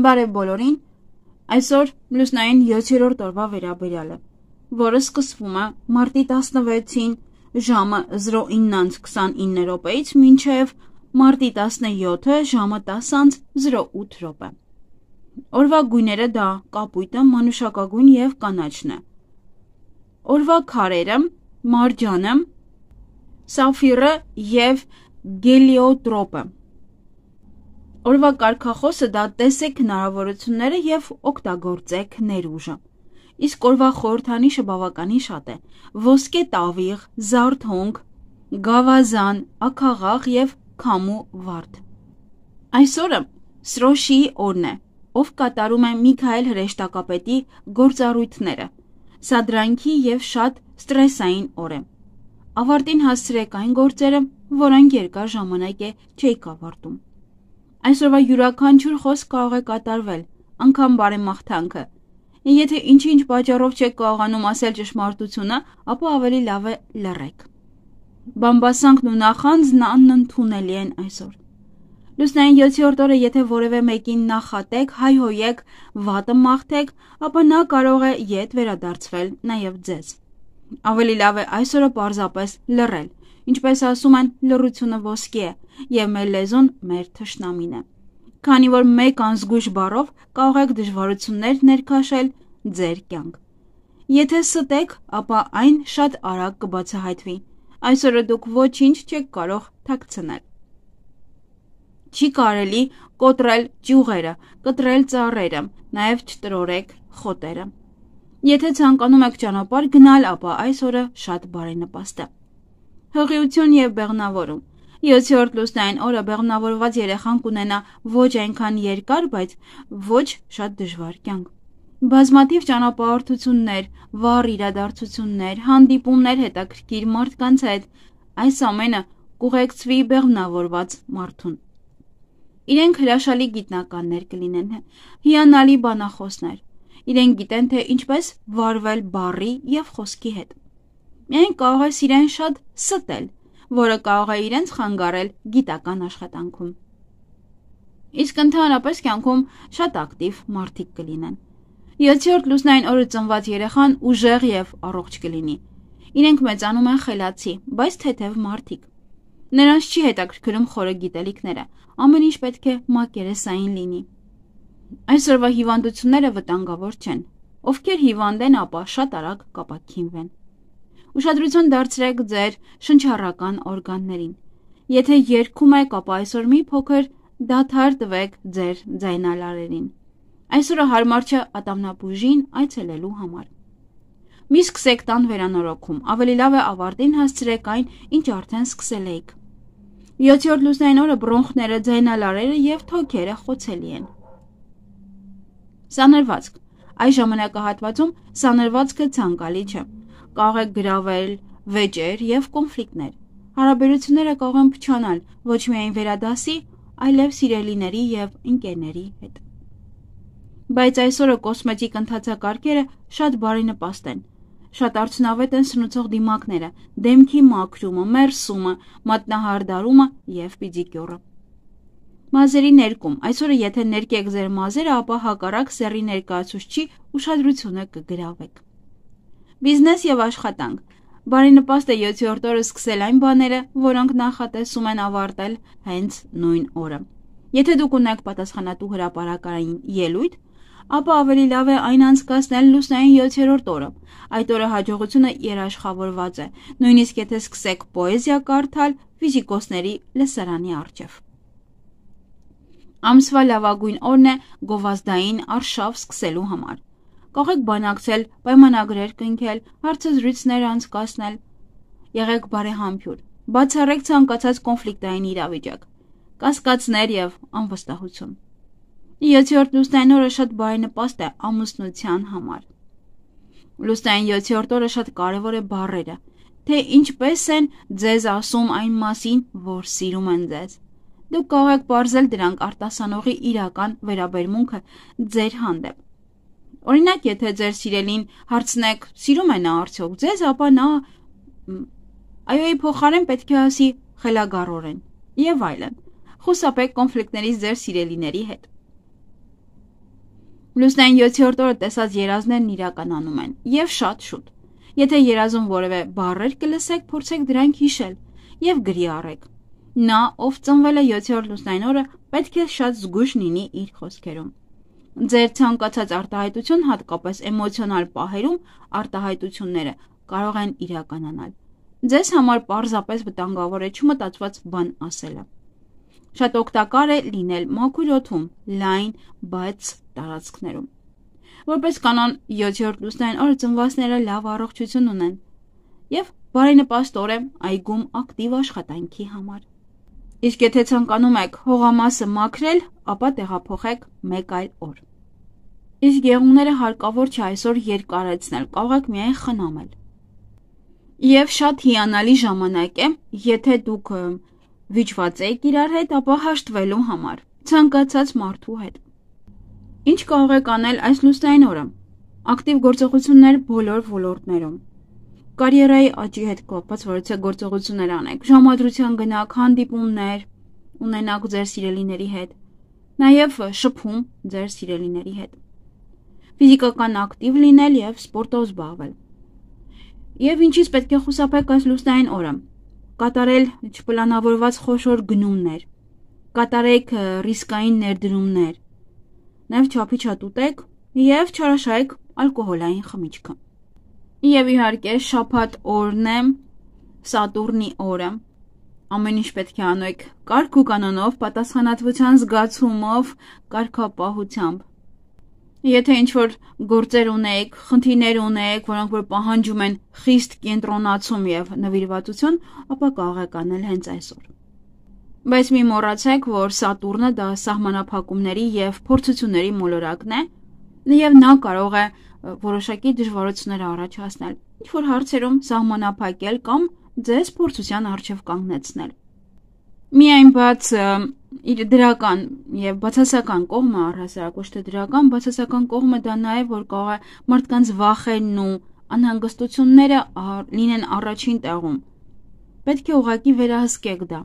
Բարև բոլորին, այսօր լուսնային 7-րդ օրվա վերաբերյալ է, որը սկսվում է մարտի 16-ին ժամը 09:29 րոպեից մինչև մարտի 17-ը ժամը 10:08 րոպե։ Օրվա գույները դա կապույտը, մանուշակագույն և կանաչն է։ Օրվա քարերը մարջանը, սաֆիրը և գելիոտրոպը։ Օրվա կարգախոսը դա տեսեք հնարավորությունները և օգտագործեք ներուժը։ Իսկ օրվա խորհրդանիշը բավականին շատ է՝ ոսկե տավիղ, զարթոնք, գավազան, աքաղաղ և քամու վարդ։ Այսօրը Սրոշիի օրն է, ով կատարում է Միքայել հրեշտակապետի գործառույթները։ Սա դրանքի և շատ ստրեսային օր է։ Ավարտին հասցրեք այն գործերը, որոնք երկար ժամանակ է չէիք ավարտում։ Այսօրվա յուրաքանչյուր խոսք կարող է կատարվել, անգամ բարեմաղթանքը։ Եթե ինչ-ինչ պատճառով չեք կարողանում ասել ճշմարտությունը, ապա ավելի լավ է լռեք։ Բամբասանքն ու նախանձն անընդունելի են այսօր։ Լուսնային 7-րդ օրը եթե որևէ մեկին նախատեք, հայհոյեք, վատը մաղթեք, ապա նա կարող է ետ վերադարձվել նաև ձեզ։ Ավելի լավ է այսօրը պարզապես լռել, ինչպես ասում են, լռությունը ոսկի է, և մեր լեզուն մեր թշնամին է։ Քանի որ մեկ անզգույշ բառով կարող եք դժվարություններ ներքաշել ձեր կյանք։ Եթե ստեք, ապա այն շատ արագ կբացահայտվի։ Այսօրը դուք ոչինչ չեք կարող թաքցնել։ Չի կարելի կոտրել ճյուղերը, կտրել ծառերը, նաև չտրորեք խոտերը։ Եթե ցանկանում եք ճանապարհ գնալ, ապա այս օրը շատ բարենպաստ է։ Հղիություն և բեղմնավորում։ 7-րդ լուսնային օրը բեղմնավորված երեխան կունենա ոչ այնքան երկար, բայց ոչ շատ դժվար կյանք։ Բազմաթիվ ճանապարհորդություններ, վառ իրադարձություններ, հանդիպումներ հետաքրքիր մարդկանց հետ, այս ամենը կուղեկցվի բեղմնավորված մարդուն։ Իրենք հրաշալի գիտնականներ կլինեն, հիանալի բանախոսներ։ Իրենք գիտեն, թե ինչպես վարվել բառի և խոսքի հետ։ Միայն կարող է իրեն շատ ստել, որը կարող է իրենց խանգարել գիտական աշխատանքում։ Իսկ ընդհանրապես կյանքում շատ ակտիվ մարդիկ կլինեն։ 7-րդ լուսնային օրը ծնված երեխան ուժեղ և առողջ կլինի։ Իրենք մեծանում են խելացի, բայց թեթև մարդիկ։ Նրանց չի հետաքրքրում խորը գիտելիքները, ամեն ինչ պետք է մակերեսային լինի։ Այսօրվա հիվանդությունները վտանգավոր չեն։ Ովքեր հիվանդ են, ապա շատ արագ կապաքինվեն։ Ուշադրություն դարձրեք ձեր շնչառական օրգաններին։ Եթե երգում եք, ապա այսօր մի փոքր դադար տվեք ձեր ձայնալարերին։ Այսօրը հարմար չէ ատամնաբուժին այցելելու համար։ Մի սկսեք տան վերանորոգում, ավելի լավ է ավարտին հասցրեք այն, ինչ արդեն սկսել էիք։ 7-րդ լուսնային օրը բրոնխները, ձայնալարերը և թոքերը խոցելի են։ Սանրվածք։ Այս ժամանակահատվածում սանրվածքը ցանկալի չէ։ Կարող եք գրավել վեճեր և կոնֆլիկտներ։ Հարաբերությունները կարող են փչանալ ոչ միայն վերադասի, այլև սիրելիների և ընկերների հետ։ Բայց այսօրը կոսմետիկ ընթացակարգերը շատ բարենպաստ են։ Շատ արդյունավետ են սնուցող դիմակները, դեմքի մաքրումը, մերսումը, մատնահարդարումը և պիդիկյուրը։ Մազերի ներկում։ Այսօրը եթե ներկեք ձեր մազերը, ապա հակառակ սեռի ներկայացուցչի ուշադրությունը կգրավեք։ Բիզնես և աշխատանք։ Բարենպաստ է 7-րդ օրը սկսել այն բաները, որոնք նախատեսում են ավարտել հենց նույն օրը։ Եթե դուք ունեք պատասխանատու հրապարակային ելույթ, ապա ավելի լավ է այն անցկացնել լուսնային 7-րդ օրը։ Այդ օրը հաջողությունը երաշխավորված է, նույնիսկ եթե սկսեք պոեզիա կարդալ ֆիզիկոսների լսարանի առջև։ Ամսվա լավագույն օրն է գովազդային արշավ սկսելու համար։ Կարող եք բանակցել, պայմանագրեր կնքել, հարցազրույցներ անցկացնել։ Եղեք բարեհամբույր, բացառեք ցանկացած կոնֆլիկտային իրավիճակ, կասկածներ և անվստահություն։ 7-րդ լուսնային օրը շատ բարենպաստ է ամուսնության համար։ Լուսնային 7-րդ օրը շատ կարևոր է բառերը, թե ինչպես են ձեզ ասում այն մասին, որ սիրում են ձեզ։ Դուք կարող եք պարզել դրանք արտասանողի իրական վերաբերմունքը ձեր հանդեպ։ Օրինակ, եթե ձեր սիրելին հարցնեք, սիրում է նա արդյոք ձեզ, ապա նա այոյի փոխարեն պետք է ասի խելագարորեն, եւ այլն։ Խուսափեք կոնֆլիկտներից ձեր սիրելիների հետ։ Լուսնային 7-րդ օրը տեսած երազներն իրականանում են եւ շատ շուտ։ Եթե երազում որևէ բառեր կլսեք, փորձեք դրանք հիշել եւ գրի առեք։ Նա, ով ծնվել է 7-րդ լուսնային օրը, պետք է շատ զգույշ լինի իր խոսքերում։ Ձեր ցանկացած արտահայտություն, հատկապես էմոցիոնալ պահերում, արտահայտությունները կարող են իրականանալ։ Ձեզ համար պարզապես վտանգավոր է չմտածված բան ասելը։ Շատ օգտակար է լինել մաքուր օդում, լայն, բաց տարածքներում։ Որպես կանոն 7-րդ լուսնային օրը ծնվածները լավ առողջություն ունեն եւ բարենպաստ օր է այգում ակտիվ աշխատանքի համար։ Իսկ եթե ցանկանում եք հողամասը մաքրել, ապա տեղափոխեք մեկ այլ օր։ Իսկ եղունգները հարկավոր չէ այսօր երկարեցնել, կարող եք միայն խնամել։ Եվ շատ հիանալի ժամանակ է, եթե դուք վիճված եք իրար հետ, ապա հաշտվելու համար, ցանկացած մարդու հետ։ Ինչ կարող եք անել այս լուսնային օրը։ Ակտիվ գործողություններ բոլոր ոլորտներում։ Կարիերայի աճի հետ կապված որոշ գործողություններ անեք, ժամադրության գնաք, հանդիպումներ ունենաք ձեր սիրելիների հետ, նաև շփում ձեր սիրելիների հետ։ Ֆիզիկական ակտիվ լինել եւ սպորտով զբաղվել։ Եվ ինչից պետք է խուսափեք այս լուսնային օրը։ Կատարել չպլանավորված խոշոր գնումներ, կատարեք ռիսկային ներդրումներ, նաև չափիչատ ուտեք եւ չարաշահեք ալկոհոլային խմիչքը։ Եվ իհարկե շաբաթ օրն է, Սատուրնի օրը։ Ամեն ինչ պետք է անեք կարգ ու կանոնով, պատասխանատվության զգացումով, կարգապահությամբ։ Եթե ինչ-որ գործեր ունեք, խնդիրներ ունեք, որոնք որ պահանջում են խիստ կենտրոնացում եւ նվիրվածություն, ապա կարող եք անել հենց այսօր։ Բայց մի մոռացեք, որ Սատուրնը դա սահմանափակումների եւ փորձությունների մոլորակն է, եւ նա կարող է որոշակի դժվարություններ առաջացնել, ինչ-որ հարցերում սահմանափակել կամ ձեզ փորձության առջև կանգնեցնել։ Միայն բաց իր դրական եւ բացասական կողմը, առհասարակ ոչ թե դրական, բացասական կողմը դա նա է, որ կարող է մարդկանց վախերն ու անհանգստությունները լինեն առաջին տեղում։ Պետք է ուղղակի վերահսկեք դա։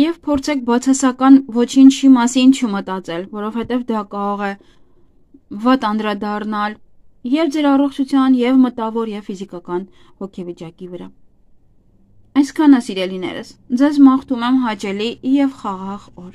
Եվ փորձեք բացասական ոչինչի մասին չմտածել, որովհետեւ դա կարող է վատ անդրադառնալ եւ ձեր առողջության, եւ մտավոր, եւ ֆիզիկական հոգեվիճակի վրա։ Այսքանը սիրելիներս, ձեզ մաղթում եմ հաճելի եւ խաղաղ օր։